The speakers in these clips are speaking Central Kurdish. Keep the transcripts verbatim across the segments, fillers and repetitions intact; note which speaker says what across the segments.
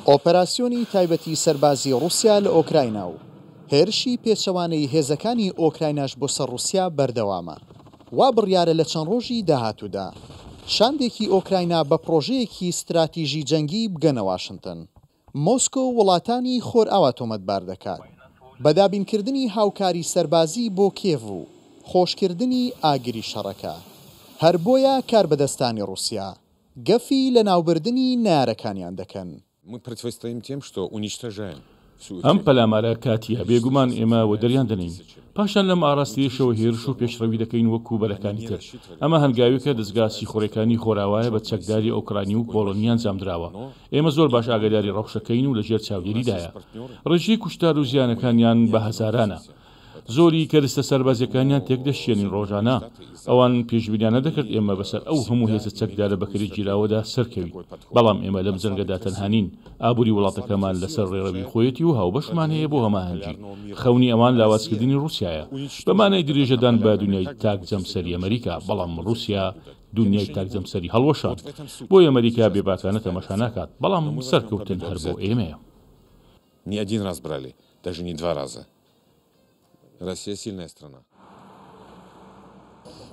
Speaker 1: ئۆپەراسیۆنی تایبەتی سەربازی ڕووسیا لە ئۆکراینا و هێرشی پێچەوانەی هێزەکانی ئۆکرایناش بۆ سەر ڕووسیا بەردەوامە. وا بڕیارە لە چەند ڕۆژی داهاتوودا شاندێکی ئۆکراینا بە پڕۆژەیەکی ستراتیژی جەنگی بگەنە واشنتن. مۆسکۆ وڵاتانی خۆرئاوا تۆمەتبار دەکات بە دابینکردنی هاوکاری سەربازی بۆ کیێڤ و خۆشکردنی ئاگری شەڕەکە. هەر بۆیە کاربەدەستانی ڕووسیا گەفی لەناوبردنی نەیارەکانیان دەکەن.
Speaker 2: ئەم پەلامارە کاتییە، بێگومان ئێمە وەدەریان دەنێین. پاشان لەم ئاراستەیەشەوە هێرش و پێشڕەوی دەکەین وەکو بەرەکانی تر. ئەمە هەنگاوێکە دەزگا سیخوڕیەکانی خۆرئاوایە بە چەکداری ئۆکرانی و پۆڵۆنی ئەنجامدراوە. ئێمە زۆر باش ئاگاداری ڕەوشەکەین و لەژێر چاودێریدایە. ڕێژەی کوشتار و زیانەکانیان بە هەزارانە. زۆری کەرستە سەربازیەکانیان تێکدەشکێنین ڕۆژانە. ئەوان پێشبینیان نەدەکرد ئێمە بەسەر ئەو هەموو هێزە چەکدارە بەکرێگیراوەدا سەرکەوین. بەڵام ئێمە لەم جەنگەدا تەنها نین. ئابوری وڵاتەکەمان لەسەر ڕێڕەوی خۆیەتی و هاوبەشمان هەیە بۆ هەماهەنگی. خەونی ئەوان لاوازکردنی ڕوسیایە. بە مانای درێژەدان بە دونیای تاک جەمسەری ئەمریکا. بەڵام ڕوسیا دونیای تاک جەمسەری هەڵوەشاند. بۆیە ئەمریکا بێباکانە تەماشا ناکات. بەڵام سەرکەوتن هەر بۆ ئێمەیە.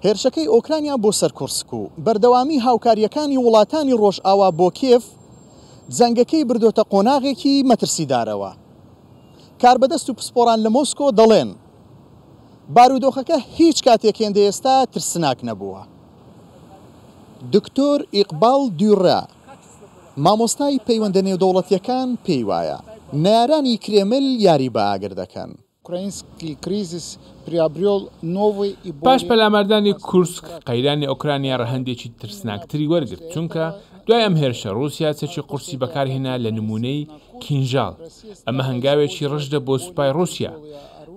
Speaker 1: هێرشەکەی ئۆکرانیا بۆ سەر کورسک و بەردەوامی هاوکارییەکانی وڵاتانی ڕۆژئاوا بۆ کیێڤ، جەنگەکەی بردۆتە قۆناغێکی مەترسیدارەوە. کاربەدەست و پسپۆڕان لە مۆسکۆ دەڵێن، بارودۆخەکە هیچ کاتێک هێندە ئێستا ترسناک نەبووە. دکتۆر ئیقباڵ دیورا، مامۆستای پەیوەندە نێودەوڵەتییەکان پێی وایە، نەیارانی کرێمل یاری بە ئاگر دەکەن.
Speaker 3: پاش پەلاماردانی کورسک، قەیرانی ئۆکرانیا ڕەهەندێکی ترسناکتری وەرگرت، چونکە دوای ئەم هێرشە ڕووسیا چەکی قورسی بەکارهێنا لە نموونەی کینژاڵ، ئەمە هەنگاوێکی ڕژدە بۆ سوپای ڕووسیا.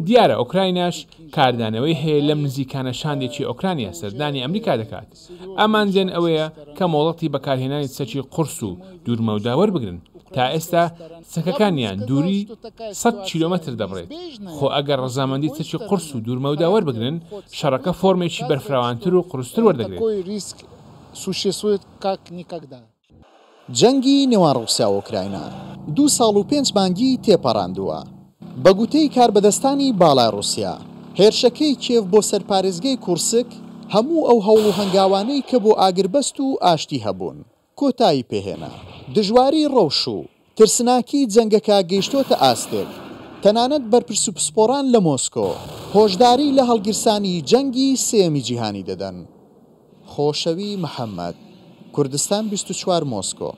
Speaker 3: دیارە ئۆکرایناش کاردانەوەی هەیە لەم نزیکانە شاندێکی ئۆکرانیا سەردانی ئەمریکا دەکات، ئامانجیان ئەوەیە کە مۆڵەتی بەکارهێنانی چەکی قورس و دوورمەودا وەربگرن، تا ئێستا چەکەکانیان دووری سەد کیلۆمەتر دەبڕێت، خۆ ئەگەر ڕەزامەندی چەکی قورس و دوورمەودا وەربگرن شەڕەکە فۆرمێکی بەرفراوانتر و قورستر وەردەگرێت.
Speaker 1: جەنگی نێوان ڕووسیا و ئۆکراینا دوو ساڵ و پێنج مانگی تێپەڕاندووە. بە گوتەی کاربەدەستانی باڵای ڕووسیا، هێرشەکەی کیێڤ بۆ سەر پارێزگەی کورسک هەموو ئەو هەوڵ و هەنگاوانەی کە بۆ ئاگربەست و ئاشتی هەبوون، کۆتایی پێهێنا. دژواری ڕەوش و ترسناکی جەنگەکە گەیشتۆتە ئاستێک، تەنانەت بەرپرس و پسپۆڕان لە مۆسکۆ هۆشداری لە هەڵگیرسانی جەنگی سێیەمی جیهانی دەدەن. خۆشەوی محەمەد، کوردستان بیست و چوار مۆسکۆ.